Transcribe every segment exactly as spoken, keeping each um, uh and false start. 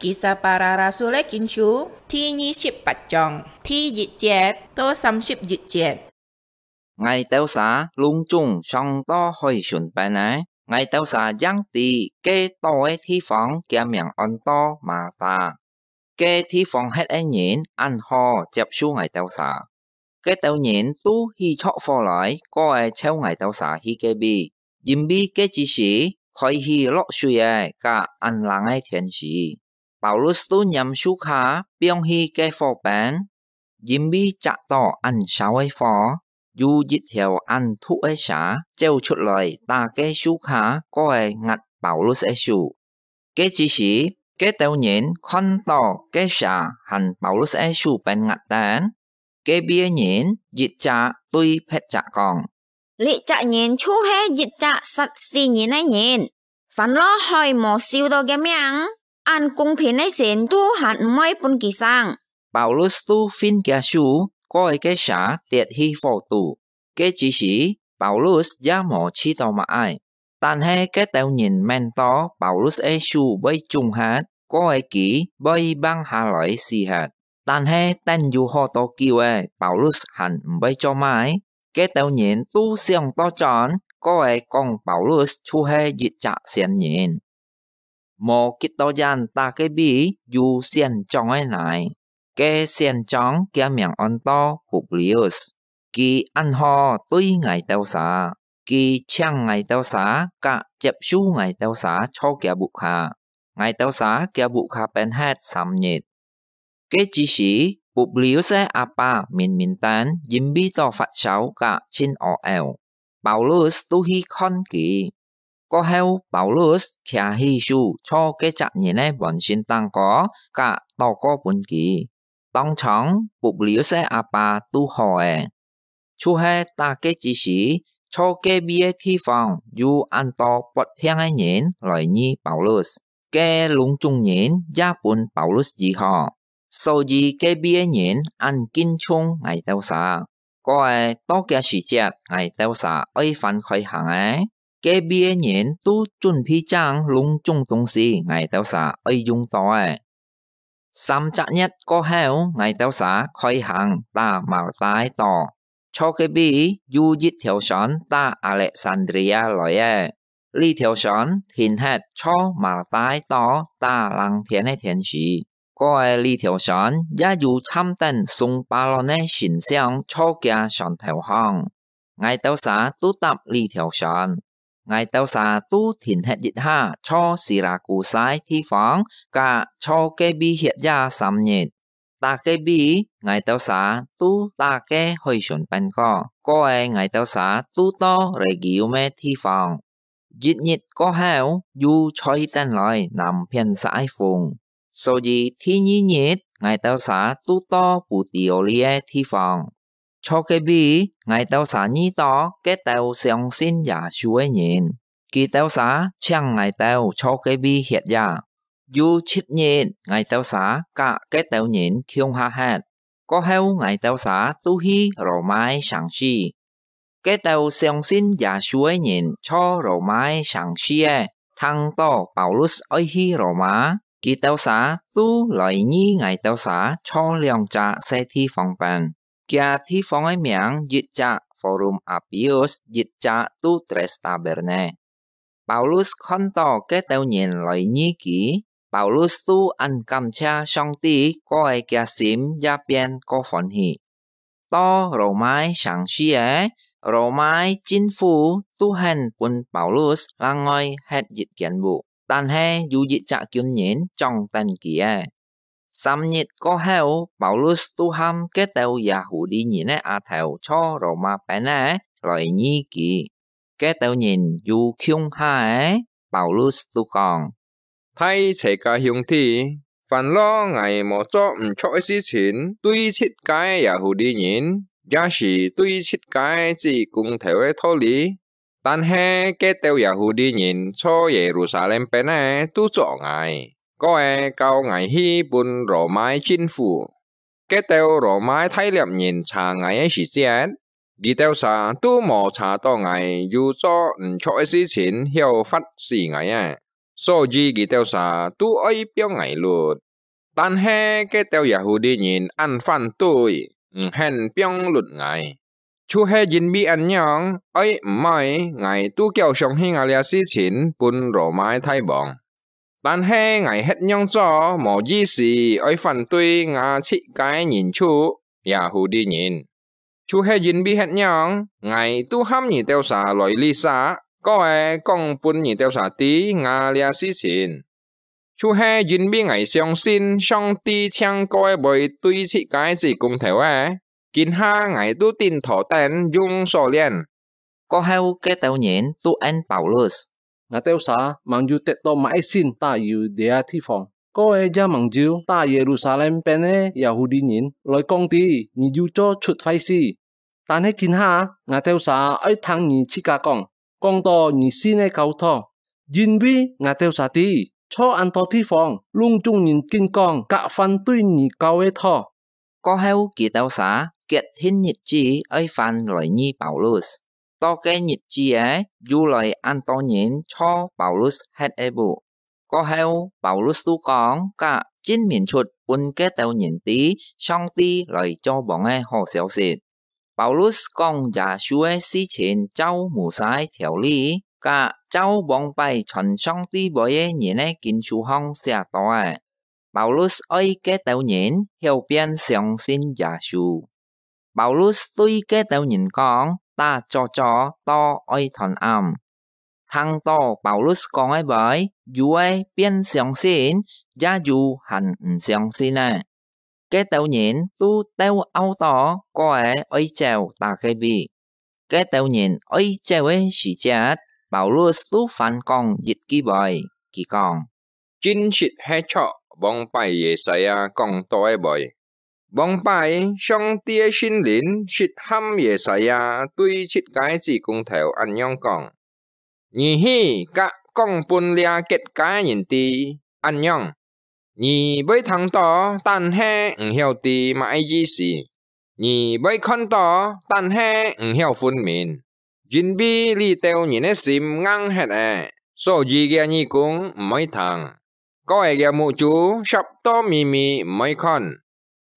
Kisah Para Rasul-é Kinsú第二十八章第一節到三十一節。 Ngài-têu sà lûng-chúng song to hói-sùn pen-é, ngài-têu sà yang tî ke tó-é thi-fông kiâ miàng ôn-to Malta. Ke thi-fông he̍t-é ngìn án hó chiap-su ngài-têu sà. Ke-têu ngìn tu hí chho̍k fò lòi, ko-é cheu ngài-têu sà hi ke-vi, yîn-vi ke chi-sî khôi-hí lok sui-é kak án lâng-é thiên-sì. Pâulus tu ngiam su-kha piong hi ke fò-pen, yîn-vi chak-tó án sâu-é fò, yû yit-thèu án thu̍k-é sâ chéu-chhut-lòi tá ke su-kha ko-é ngak Pâulus-é sú. Ke chi-sî, ke-têu ngìn khon-tó ke sâ hàn Pâulus-é sú-pen ngak-tén, ke-vi-é ngìn yit-chak tui phe̍t-chak kóng: "Liá-chak ngìn chhiu-he yit-chak sat-sí ngìn ke ngìn. Fán-lo hói mò siu-tó kiâ miàng, án kûng-phìn ke sîn tu hàn m̀-voi pûn kì sang." Pâulus tu fin kiâ sú, ko-é ke sâ tiet hi fò-tú. Ke chi-sî, Pâulus ya mò chhi-tó má-é, Tan-he ke-têu ngìn mén-to Pâulus-é sú voi chúng-he̍t, ko-é kî voi vang hâ-lòi sí-he̍t. Tan-he ten yû hó-tô kiu-é, Pâulus hàn m̀-voi cho má-é. Ke-têu ngìn tu sióng to chón, ko-é kóng Pâulus chhiu-he yit-chak siên-ngìn. Mò kit-tó yén tá ke-vi yû siên-chóng-é nài. Ke siên-chóng kiâ miàng ôn-to Publius. Kì án hó tui ngài-têu sà. Kì chhiáng ngài-têu sâ kak chiap-su ngài-têu sâ chho kiâ vuk-hâ. Ngài-têu sâ kiâ vuk-hâ pên-he̍t sâm-ngit. Ke chi-sî, Publius-é â-pá mìn-mìn ten yîn-vi tó fat-sâu kak chhin ô-eu. Pâulus tu hi khon kì. Ko-heu, Pâulus khià hí-sú chho ke-chak ngìn-è vòn-sîn táng-kô kak tó-ko pûn kì. Tông-chhòng, Publius-é â-pá tu hó-é. Chhiu-he tá ke chi-sî, chho ke-vi-é thi-fông yû án-to pot-phiang ke ngìn lòi ngi Pâulus. Ke lûng-chúng ngìn ya pûn Pâulus yî-hó. Só-yî ke-vi-é ngìn án kin-chhung ngài-têu sâ. Ko-é to kiâ sṳ̀-chiet ngài-têu sâ oi fán-khôi hàng-è, ke-vi-é ngìn tu chún-phi chang lûng-chúng tûng-sî ngài-têu sâ oi yung-tó-é. Sâm-chak ngie̍t ko-heu, ngài-têu sâ khôi hàng tá Malta-é tó. Chho ke-vi yû yit-thèu sôn tá Alexandria lòi-é. Li-thèu sôn thìn-he̍t chho Malta-é tó tá lâng-thiên ke thiên-sî. Ko-é li-thèu sôn ya yû chham-tén sung pá-lon ke sîn-siong chho kiâ sôn-thèu-hong. Ngài-têu sâ tu tap li-thèu sôn. Ngài-têu sâ tu thìn-he̍t yit-ha chho Sî-lâ-kû-sa thi-fông kak chho ke-vi hiet-ya sâm-ngit. Tá ke-vi, ngài-têu sâ tu tá ke hói-sùn pen-kô. Ko-é ngài-têu sâ tu to Rhegium-é thi-fông. Yit-ngit ko-heu, yû chhôi-tén-lòi nàm-phién sák-ke fûng. Só-yî, thi-ngi-ngit, ngài-têu sâ tu to Pû-ti-ô-li-é thi-fông. Chho ke-vi, ngài-têu sâ ngi-tó ke-têu siông-sin Yâ-sû ke ngìn. Kì-têu sâ chhiáng ngài-têu chho ke-vi hiet-ya. Yû chhit-ngit, ngài-têu sâ kak ke-têu ngìn khiung-ha he̍t. Ko-heu, ngài-têu sâ tu hi Rô-mâ-é sàng-si. Ke-têu siông-sin Yâ-sû ke ngìn chho Rô-mâ-é sàng-si-é, thâng-tó Pâulus oi hi Rô-mâ, kì-têu sâ tu lòi ngi ngài-têu sâ chho lióng-chak se thi-fông pen. Kiâ thi-fông ke miàng yit-chak Forum Appius, yit-chak tu Trestaberné. Pâulus khon-tó ke-têu ngìn lòi ngi kì, Pâulus tu án kám-chhia Song-ti, ko-é kiâ sîm ya pien ko fôn-hí. To Rô-mâ-é sàng-si-é, Rô-mâ-é chin-fú tu hén pûn Pâulus lâng-ngoi he̍t yit-kiên vuk, tan-he yû yit-chak kiûn-ngìn chóng-tén kì-é. Sâm-ngit ko-heu, Pâulus tu ham ke-têu Yâ-hù-ti ngìn ke â-thèu chho Rô-mâ pen-é lòi ngi kì. Ke-têu ngìn yû khiung-ha-é, Pâulus tu kóng: Thai-chhè-ká hiûng-thi, fán-lo ngài mò cho m̀-chho̍k ke sṳ-chhìn tui chhit-ka Yâ-hù-ti ngìn, ya-sṳ̀ tui chhit-ka chi kûng-thèu ke tho-lî, tan-he ke-têu Yâ-hù-ti ngìn chho Yê-rù-sâ-lem pen-é tu chok ngài, ko-é kâu ngài hi pûn Rô-mâ-é chin-fú. Ke-têu Rô-mâ-é thai-liap-ngìn chhà ngài ke sṳ̀-chiet, kì-têu sà tu mò chhà-tó ngài yû cho m̀-chho̍k ke sṳ-chhìn hiéu fa̍t-sí ngài-é. 所以佢兜儕都愛放𠊎㪐。但係該兜Yahudi人恁反對，毋肯放㪐𠊎，就係因為恁樣，愛毋愛，𠊎都攪上去這事情分羅馬个大王。但係𠊎歇仰做無意思，愛反對吾自家个人族，Yahudi人。就係因為恁樣，𠊎都喊你兜儕來這儕，過仔講分你兜儕知吾這事情。就係因為𠊎相信上帝淨過仔會對自家个子公頭仔，今下𠊎都頂妥等用鎖鏈。過後該兜人都應Paulus：「𠊎兜儕吂有得到麼个信打入這地方，過仔也吂有打Yerusalem邊个Yahudi人來講知你有做出壞事。但係今下，𠊎兜儕愛聽你自家講，講到你信个教導，因為𠊎兜儕知，在恁多地方，攏總人緊講佮反對你教个道。」過後佢兜儕決定日子愛翻來覕Paulus。到該日子仔，又來恁多人坐Paulus歇个屋。過後，Paulus都講，佮證明出分該兜人知上帝來做王个好消息。Paulus講耶穌个事情照Moses个條例，佮照往擺傳上帝話个人个經書項寫到个。Paulus愛該兜人曉變相信耶穌。Paulus對該兜人講，打早朝到愛斷暗。聽到Paulus講个話，有个變相信，也有還毋相信个。該兜人都鬥拗到，過仔愛走打个位。該兜人愛走个時節，Paulus都還講一句話，佢講：「真實係著往擺Yesaya講到个話。往擺，上帝个聖靈實喊Yesaya對自家个子公頭恁樣講：你去佮講分這結界个人知，恁樣，你會聽到，但係毋曉知麼个意思；你會看到，但係毋曉分明。因為這兜人个心硬核了，所以厥耳公毋會聽，過仔厥目珠煞到咪咪毋會看。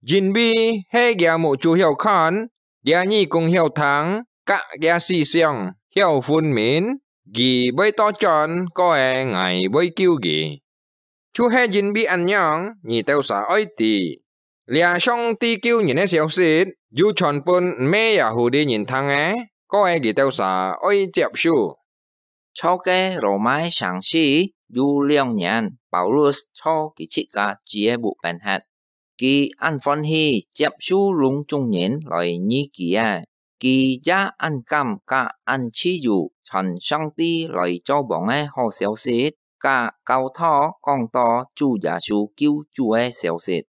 因為係厥目珠曉看，厥耳公曉聽，佮厥思想曉分明，佢會倒轉，過仔𠊎會救佢。」就係因為恁樣，你兜儕愛知，這上帝救人个消息，有傳分毋係Yahudi人聽个，過仔佢兜儕愛接受。坐該羅馬城市有兩年，Paulus坐佢自家子个屋邊歇。佢恁歡喜接受攏總人來覕佢仔，佢也恁敢佮恁自由傳上帝來做王个好消息，佮教徒講到主耶穌救主个消息。